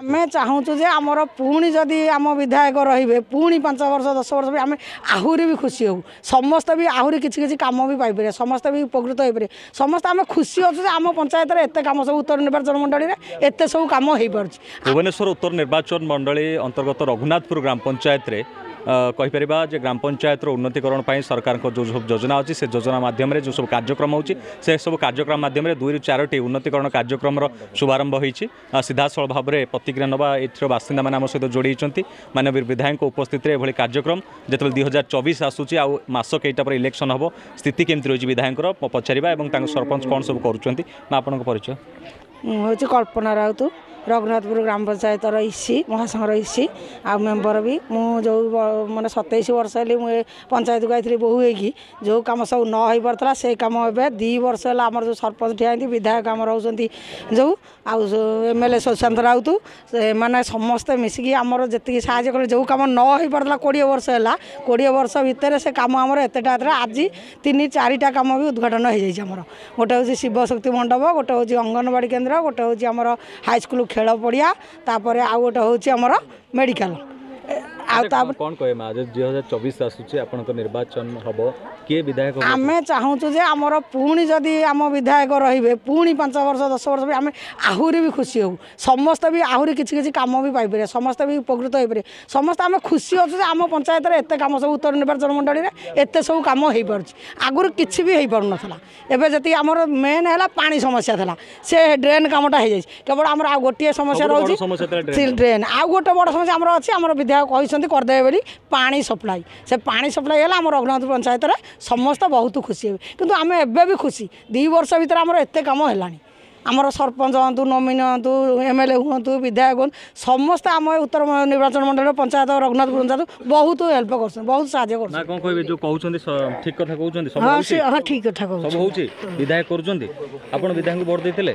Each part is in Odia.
ଆମେ ଚାହୁଁଛୁ ଯେ ଆମର ପୁଣି ଯଦି ଆମ ବିଧାୟକ ରହିବେ ପୁଣି 5 ବର୍ଷ 10 ବର୍ଷ ବି ଆମେ ଆହୁରି ବି ଖୁସି ହେବୁ। ସମସ୍ତେ ବି ଆହୁରି କିଛି କିଛି କାମ ବି ପାଇପାରିବେ, ସମସ୍ତେ ବି ଉପକୃତ ହେଇପାରିବେ। ସମସ୍ତେ ଆମେ ଖୁସି ଅଛୁ ଯେ ଆମ ପଞ୍ଚାୟତରେ ଏତେ କାମ ସବୁ ଉତ୍ତର ନିର୍ବାଚନ ମଣ୍ଡଳୀରେ ଏତେ ସବୁ କାମ ହେଇପାରୁଛି। ଭୁବନେଶ୍ୱର ଉତ୍ତର ନିର୍ବାଚନ ମଣ୍ଡଳୀ ଅନ୍ତର୍ଗତ ରଘୁନାଥପୁର ଗ୍ରାମ ପଞ୍ଚାୟତରେ କହିପାରିବା ଯେ ଗ୍ରାମ ପଞ୍ଚାୟତର ଉନ୍ନତିକରଣ ପାଇଁ ସରକାରଙ୍କ ଯେଉଁ ସବୁ ଯୋଜନା ଅଛି, ସେ ଯୋଜନା ମାଧ୍ୟମରେ ଯେଉଁ ସବୁ କାର୍ଯ୍ୟକ୍ରମ ହେଉଛି, ସେ ସବୁ କାର୍ଯ୍ୟକ୍ରମ ମାଧ୍ୟମରେ 2ରୁ 4ଟି ଉନ୍ନତିକରଣ କାର୍ଯ୍ୟକ୍ରମର ଶୁଭାରମ୍ଭ ହୋଇଛି। ସିଧାସଳଖ ଭାବରେ ପ୍ରତିକ୍ରିୟା ନେବା ଏଠିର ବାସିନ୍ଦାମାନେ ଆମ ସହିତ ଯୋଡ଼ି ହୋଇଛନ୍ତି। ମାନ୍ୟବର ବିଧାୟକଙ୍କ ଉପସ୍ଥିତିରେ ଏଭଳି କାର୍ଯ୍ୟକ୍ରମ ଯେତେବେଳେ 2024 ଆସୁଛି, ଆଉ ମାସ କେଇଟା ପରେ ଇଲେକ୍ସନ୍ ହେବ, ସ୍ଥିତି କେମିତି ରହିଛି ବିଧାୟକଙ୍କର ପଚାରିବା ଏବଂ ତାଙ୍କ ସରପଞ୍ଚ କ'ଣ ସବୁ କରୁଛନ୍ତି। ନା ଆପଣଙ୍କ ପରିଚୟ? ମୁଁ ହେଉଛି କଳ୍ପନା ରାଉତ, ରଘୁନାଥପୁର ଗ୍ରାମ ପଞ୍ଚାୟତର ଇସି, ମହାସଂଘର ଇସି ଆଉ ମେମ୍ବର ବି। ମୁଁ ଯେଉଁ ମାନେ 27 ବର୍ଷ ହେଲି ମୁଁ ଏ ପଞ୍ଚାୟତକୁ ଆଇଥିଲି ବୋହୂ ହେଇକି, ଯେଉଁ କାମ ସବୁ ନ ହେଇପାରୁଥିଲା ସେଇ କାମ ଏବେ 2 ବର୍ଷ ହେଲା ଆମର ଯେଉଁ ସରପଞ୍ଚ ଠିଆ ହେଇନ୍ତି, ବିଧାୟକ ଆମର ହେଉଛନ୍ତି ଯେଉଁ ଆଉ M L A Sushant Rout, ସେମାନେ ସମସ୍ତେ ମିଶିକି ଆମର ଯେତିକି ସାହାଯ୍ୟ କଲେ, ଯେଉଁ କାମ ନ ହେଇପାରୁଥିଲା 20 ବର୍ଷ ହେଲା, 20 ବର୍ଷ ଭିତରେ ସେ କାମ ଆମର ଏତେଟା ଏତେଟା ଆଜି 3 4ଟା କାମ ବି ଉଦ୍ଘାଟନ ହେଇଯାଇଛି ଆମର। ଗୋଟେ ହେଉଛି ଶିବଶକ୍ତି ମଣ୍ଡପ, ଗୋଟେ ହେଉଛି ଅଙ୍ଗନବାଡ଼ି କେନ୍ଦ୍ର, ଗୋଟେ ହେଉଛି ଆମର ହାଇସ୍କୁଲ ଖେଳ ପଡ଼ିଆ, ତାପରେ ଆଉ ଗୋଟେ ହେଉଛି ଆମର ମେଡ଼ିକାଲ। ଆଉ ତାପରେ କ'ଣ କହିବେ ମା, 2024 ଆସୁଛି, ଆପଣଙ୍କ ନିର୍ବାଚନ ହେବ, କିଏ ବିଧାୟକ? ଆମେ ଚାହୁଁଛୁ ଯେ ଆମର ପୁଣି ଯଦି ଆମ ବିଧାୟକ ରହିବେ ପୁଣି 5 ବର୍ଷ 10 ବର୍ଷ ବି ଆମେ ଆହୁରି ବି ଖୁସି ହେବୁ। ସମସ୍ତେ ବି ଆହୁରି କିଛି କିଛି କାମ ବି ପାଇପାରିବେ, ସମସ୍ତେ ବି ଉପକୃତ ହେଇପାରିବେ। ସମସ୍ତେ ଆମେ ଖୁସି ଅଛୁ ଯେ ଆମ ପଞ୍ଚାୟତରେ ଏତେ କାମ ସବୁ ଉତ୍ତର ନିର୍ବାଚନ ମଣ୍ଡଳୀରେ ଏତେ ସବୁ କାମ ହେଇପାରୁଛି। ଆଗରୁ କିଛି ବି ହେଇପାରୁନଥିଲା। ଏବେ ଯେତିକି ଆମର ମେନ୍ ହେଲା ପାଣି ସମସ୍ୟା ଥିଲା, ସେ ଡ୍ରେନ୍ କାମଟା ହେଇଯାଇଛି। କେବଳ ଆମର ଆଉ ଗୋଟିଏ ସମସ୍ୟା ରହୁଛି ଡ୍ରେନ୍। ଆଉ ଗୋଟେ ବଡ଼ ସମସ୍ୟା ଆମର ଅଛି, ଆମର ବିଧାୟକ କହିଛନ୍ତି କରିଦେବେ ବୋଲି, ପାଣି ସପ୍ଲାଇ। ସେ ପାଣି ସପ୍ଲାଇ ହେଲା ଆମ ରଘୁନାଥ ପଞ୍ଚାୟତରେ ସମସ୍ତେ ବହୁତ ଖୁସି ହେବେ। କିନ୍ତୁ ଆମେ ଏବେ ବି ଖୁସି, 2 ବର୍ଷ ଭିତରେ ଆମର ଏତେ କାମ ହେଲାଣି। ଆମର ସରପଞ୍ଚ ହୁଅନ୍ତୁ, ନମିନ ହୁଅନ୍ତୁ, ଏମ୍ ଏଲ୍ ଏ ହୁଅନ୍ତୁ, ବିଧାୟକ ହୁଅନ୍ତୁ, ସମସ୍ତେ ଆମ ଉତ୍ତର ନିର୍ବାଚନ ମଣ୍ଡଳୀର ପଞ୍ଚାୟତ ରଘୁନାଥପୁର ପଞ୍ଚାୟତ ବହୁତ ହେଲ୍ପ କରୁଛନ୍ତି, ବହୁତ ସାହାଯ୍ୟ କରୁଛନ୍ତି। କ'ଣ କହିବେ, ଯେଉଁ କହୁଛନ୍ତି ଠିକ କଥା କହୁଛନ୍ତି? ହଁ, ଠିକ କଥା କହୁଛନ୍ତି, ସବୁ ହେଉଛି, ବିଧାୟକ କରୁଛନ୍ତି। ଆପଣ ବିଧାୟକଙ୍କୁ ଭୋଟ ଦେଇଥିଲେ,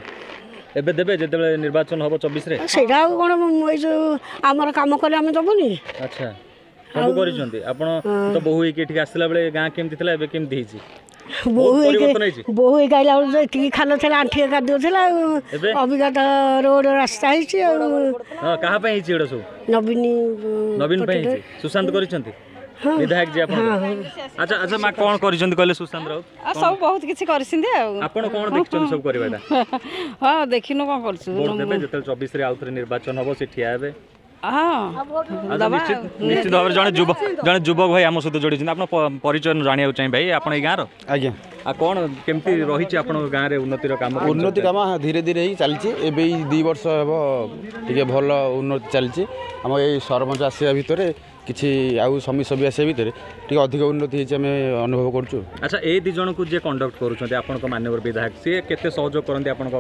ଏବେ ଦେବେ ଯେତେବେଳେ ନିର୍ବାଚନ ହେବ 24ରେ? ସେଇଟା ଆଉ କ'ଣ, ଏଇ ଯେଉଁ ଆମର କାମ କଲେ ଆମେ ଦେବୁନି? ଆଚ୍ଛା, ସବୁ କରିଛନ୍ତି। ଆପଣ ତ ବୋହୂ ହେଇକି ଏଠିକି ଆସିଲା ବେଳେ ଗାଁ କେମିତି ଥିଲା, ଏବେ କେମିତି ହେଇଛି? ବୋହୂ ହେଇକି, ବୋହୂ ହେଇକି ଆଇଲା ବେଳକୁ ଏତିକି ଖାଲ ଥିଲା, ଆଣ୍ଠିଏ କାଦୁଅ ଥିଲା, ଆଉ ଅବିକା ତ ରୋଡ଼ ରାସ୍ତା ହେଇଛି। ଆଉ କାହା ପାଇଁ ହେଇଛି ଏଗୁଡ଼ା ସବୁ? ନବୀନ, ନବୀନ ପାଇଁ ହେଇଛି। ସୁଶାନ୍ତ କରିଛନ୍ତି ବିଧାୟକ ଯିଏ ଆପଣ। ଆଚ୍ଛା ଆଚ୍ଛା, ମା କ'ଣ କରିଛନ୍ତି କହିଲେ ସୁଶାନ୍ତ ରାଉତ? ସବୁ ବହୁତ କିଛି କରିଛନ୍ତି। ଆଉ ଆପଣ କ'ଣ ଦେଖିଛନ୍ତି ସବୁ କରିବାଟା? ହଁ, ଦେଖିନୁ କ'ଣ କରୁଛୁ। ଭୋଟ ଦେବେ ଯେତେବେଳେ 24ରେ ଆଉ ଥରେ ନିର୍ବାଚନ ହବ, ସେ ଠିଆ ହେବେ? ହଁ, ନିଶ୍ଚିତ ଭାବରେ। ଜଣେ ଯୁବକ ଭାଇ ଆମ ସହିତ ଯୋଡ଼ିଛନ୍ତି, ଆପଣ ପରିଚୟ ଜାଣିବାକୁ ଚାହିଁ। ଭାଇ, ଆପଣ ଏଇ ଗାଁର? ଆଜ୍ଞା। ଆଉ କ'ଣ କେମିତି ରହିଛି ଆପଣଙ୍କ ଗାଁରେ ଉନ୍ନତିର କାମ? ଉନ୍ନତି କାମ ଧୀରେ ଧୀରେ ହେଇ ଚାଲିଛି। ଏବେ ଏଇ 2 ବର୍ଷ ହେବ ଟିକେ ଭଲ ଉନ୍ନତି ଚାଲିଛି। ଆମ ଏଇ ସରପଞ୍ଚ ଆସିବା ଭିତରେ କିଛି ଆଉ ସମିତି ସଭ୍ୟ ଆସିବା ଭିତରେ ଟିକେ ଅଧିକ ଉନ୍ନତି ହେଇଛି, ଆମେ ଅନୁଭବ କରୁଛୁ। ଆଚ୍ଛା, ଏଇ 2 ଜଣଙ୍କୁ ଯିଏ କଣ୍ଡକ୍ଟ କରୁଛନ୍ତି ଆପଣଙ୍କ ମାନ୍ୟବର ବିଧାୟକ, ସିଏ କେତେ ସହଯୋଗ କରନ୍ତି ଆପଣଙ୍କ?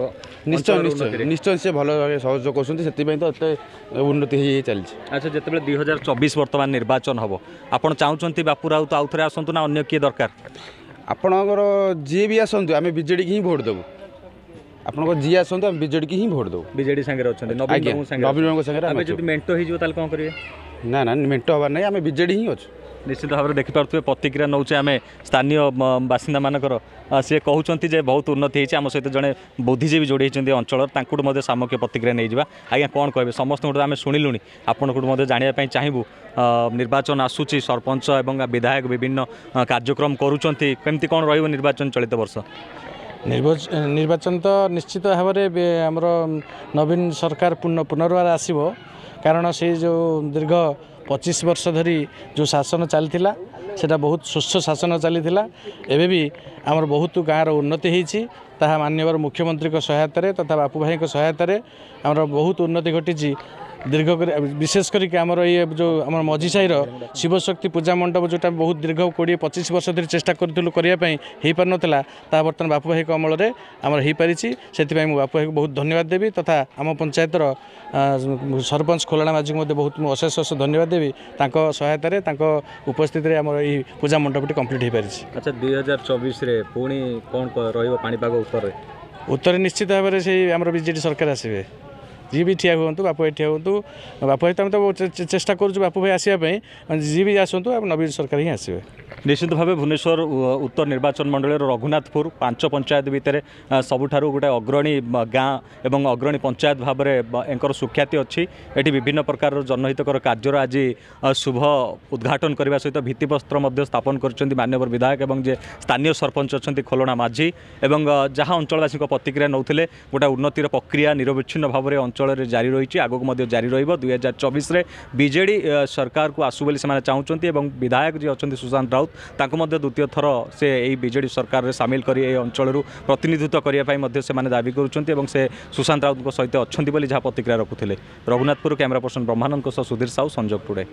ନିଶ୍ଚୟ ନିଶ୍ଚୟ ନିଶ୍ଚୟ, ସିଏ ଭଲ ଭାବେ ସହଯୋଗ କରୁଛନ୍ତି, ସେଥିପାଇଁ ତ ଏତେ ଉନ୍ନତି ହେଇ ଚାଲିଛି। ଆଚ୍ଛା, ଯେତେବେଳେ 2024 ବର୍ତ୍ତମାନ ନିର୍ବାଚନ ହେବ, ଆପଣ ଚାହୁଁଛନ୍ତି ବାପୁ ରାଉତ ଆଉ ଥରେ ଆସନ୍ତୁ ନା ଅନ୍ୟ କିଏ ଦରକାର? ଆପଣଙ୍କର ଯିଏ ବି ଆସନ୍ତୁ ଆମେ ବିଜେଡ଼ିକି ହିଁ ଭୋଟ ଦେବୁ। ଆପଣଙ୍କ ଯିଏ ଆସନ୍ତୁ ଆମେ ବିଜେଡ଼ିକି ହିଁ ଭୋଟ ଦେବୁ। ବିଜେଡ଼ି ସାଙ୍ଗରେ ଅଛନ୍ତି, ନବୀନ ନବୀନ ବାବୁଙ୍କ ସାଙ୍ଗରେ। ଆମେ ଯଦି ମେଣ୍ଟ ହେଇଯିବ ତାହେଲେ କ'ଣ କରିବେ? ନା ନା, ମେଣ୍ଟ ହେବାର ନାହିଁ, ଆମେ ବିଜେଡ଼ି ହିଁ ଅଛୁ। ନିଶ୍ଚିତ ଭାବରେ ଦେଖିପାରୁଥିବେ, ପ୍ରତିକ୍ରିୟା ନେଉଛେ ଆମେ ସ୍ଥାନୀୟ ବାସିନ୍ଦାମାନଙ୍କର। ସିଏ କହୁଛନ୍ତି ଯେ ବହୁତ ଉନ୍ନତି ହେଇଛି। ଆମ ସହିତ ଜଣେ ବୁଦ୍ଧିଜୀବୀ ଯୋଡ଼ି ହେଇଛନ୍ତି ଅଞ୍ଚଳର, ତାଙ୍କଠୁ ମଧ୍ୟ ସାମଗ୍ୟ ପ୍ରତିକ୍ରିୟା ନେଇଯିବା। ଆଜ୍ଞା, କ'ଣ କହିବେ? ସମସ୍ତଙ୍କଠୁ ଆମେ ଶୁଣିଲୁଣି, ଆପଣଙ୍କଠୁ ମଧ୍ୟ ଜାଣିବା ପାଇଁ ଚାହିଁବୁ। ନିର୍ବାଚନ ଆସୁଛି, ସରପଞ୍ଚ ଏବଂ ବିଧାୟକ ବିଭିନ୍ନ କାର୍ଯ୍ୟକ୍ରମ କରୁଛନ୍ତି, କେମିତି କ'ଣ ରହିବ ନିର୍ବାଚନ ଚଳିତ ବର୍ଷ? ନିର୍ବାଚନ ତ ନିଶ୍ଚିତ ଭାବରେ ଆମର ନବୀନ ସରକାର ପୁନର୍ବାର ଆସିବ, କାରଣ ସେ ଯେଉଁ ଦୀର୍ଘ 25 ବର୍ଷ ଧରି ଯେଉଁ ଶାସନ ଚାଲିଥିଲା ସେଇଟା ବହୁତ ସୁସ୍ଥ ଶାସନ ଚାଲିଥିଲା। ଏବେ ବି ଆମର ବହୁତ ଗାଁର ଉନ୍ନତି ହେଇଛି, ତାହା ମାନ୍ୟବର ମୁଖ୍ୟମନ୍ତ୍ରୀଙ୍କ ସହାୟତାରେ ତଥା ବାପୁ ଭାଇଙ୍କ ସହାୟତାରେ ଆମର ବହୁତ ଉନ୍ନତି ଘଟିଛି ଦୀର୍ଘ କରି। ବିଶେଷ କରିକି ଆମର ଇଏ ଯେଉଁ ଆମର ମଝି ସାହିର ଶିବଶକ୍ତି ପୂଜା ମଣ୍ଡପ, ଯେଉଁଟା ବହୁତ ଦୀର୍ଘ 20 25 ବର୍ଷ ଧରି ଚେଷ୍ଟା କରୁଥିଲୁ କରିବା ପାଇଁ, ହେଇପାରୁନଥିଲା, ତାହା ବର୍ତ୍ତମାନ ବାପୁ ଭାଇଙ୍କ ଅମଳରେ ଆମର ହେଇପାରିଛି। ସେଥିପାଇଁ ମୁଁ ବାପୁ ଭାଇକୁ ବହୁତ ଧନ୍ୟବାଦ ଦେବି ତଥା ଆମ ପଞ୍ଚାୟତର ସରପଞ୍ଚ ଖୋଲାଣା ମାଝୀଙ୍କୁ ମଧ୍ୟ ବହୁତ ମୁଁ ଅଶେଷ ଅଶେଷ ଧନ୍ୟବାଦ ଦେବି। ତାଙ୍କ ସହାୟତାରେ, ତାଙ୍କ ଉପସ୍ଥିତିରେ ଆମର ଏଇ ପୂଜା ମଣ୍ଡପଟି କମ୍ପ୍ଲିଟ୍ ହେଇପାରିଛି। ଆଚ୍ଛା, 2024ରେ ପୁଣି କ'ଣ ରହିବ ପାଣିପାଗ ଉତ୍ତରରେ? ଉତ୍ତରରେ ନିଶ୍ଚିତ ଭାବରେ ସେଇ ଆମର ବିଜେଡ଼ି ସରକାର ଆସିବେ। ଯିଏ ବି ଠିଆ ହୁଅନ୍ତୁ, ବାପୁ ଭାଇ ଠିଆ ହୁଅନ୍ତୁ, ବାପୁ ଭାଇ ତ ଆମେ ତ ଚେଷ୍ଟା କରୁଛୁ ବାପୁ ଭାଇ ଆସିବା ପାଇଁ, ଯିଏ ବି ଆସନ୍ତୁ ନବୀନ ସରକାର ହିଁ ଆସିବେ। ନିଶ୍ଚିତ ଭାବେ ଭୁବନେଶ୍ୱର ଉତ୍ତର ନିର୍ବାଚନ ମଣ୍ଡଳୀର ରଘୁନାଥପୁର 5 ପଞ୍ଚାୟତ ଭିତରେ ସବୁଠାରୁ ଗୋଟେ ଅଗ୍ରଣୀ ଗାଁ ଏବଂ ଅଗ୍ରଣୀ ପଞ୍ଚାୟତ ଭାବରେ ଏଙ୍କର ସୁଖ୍ୟାତି ଅଛି। ଏଠି ବିଭିନ୍ନ ପ୍ରକାରର ଜନହିତକର କାର୍ଯ୍ୟର ଆଜି ଶୁଭ ଉଦ୍ଘାଟନ କରିବା ସହିତ ଭିତ୍ତିପ୍ରସ୍ତର ମଧ୍ୟ ସ୍ଥାପନ କରିଛନ୍ତି ମାନ୍ୟବର ବିଧାୟକ ଏବଂ ଯେ ସ୍ଥାନୀୟ ସରପଞ୍ଚ ଅଛନ୍ତି ଖୋଲଣା ମାଝୀ। ଏବଂ ଯାହା ଅଞ୍ଚଳବାସୀଙ୍କ ପ୍ରତିକ୍ରିୟା ନେଉଥିଲେ, ଗୋଟେ ଉନ୍ନତିର ପ୍ରକ୍ରିୟା ନିରବଚ୍ଛିନ୍ନ ଭାବରେ ଅଞ୍ଚଳରେ ଜାରି ରହିଛି, ଆଗକୁ ମଧ୍ୟ ଜାରି ରହିବ। 2024ରେ ବିଜେଡ଼ି ସରକାରକୁ ଆସୁ ବୋଲି ସେମାନେ ଚାହୁଁଛନ୍ତି ଏବଂ ବିଧାୟକ ଯିଏ ଅଛନ୍ତି ସୁଶାନ୍ତ ରାଉତ, ତାଙ୍କୁ ମଧ୍ୟ ଦ୍ୱିତୀୟ ଥର ସେ ଏହି ବିଜେଡ଼ି ସରକାରରେ ସାମିଲ କରି ଏହି ଅଞ୍ଚଳରୁ ପ୍ରତିନିଧିତ୍ୱ କରିବା ପାଇଁ ମଧ୍ୟ ସେମାନେ ଦାବି କରୁଛନ୍ତି ଏବଂ ସେ ସୁଶାନ୍ତ ରାଉତଙ୍କ ସହିତ ଅଛନ୍ତି ବୋଲି ଯାହା ପ୍ରତିକ୍ରିୟା ରଖୁଥିଲେ। ରଘୁନାଥପୁର କ୍ୟାମେରା ପର୍ସନ ବ୍ରହ୍ମାନନ୍ଦଙ୍କ ସହ ସୁଧୀର ସାହୁ, ସଂଯୋଗ ଟୁଡେ।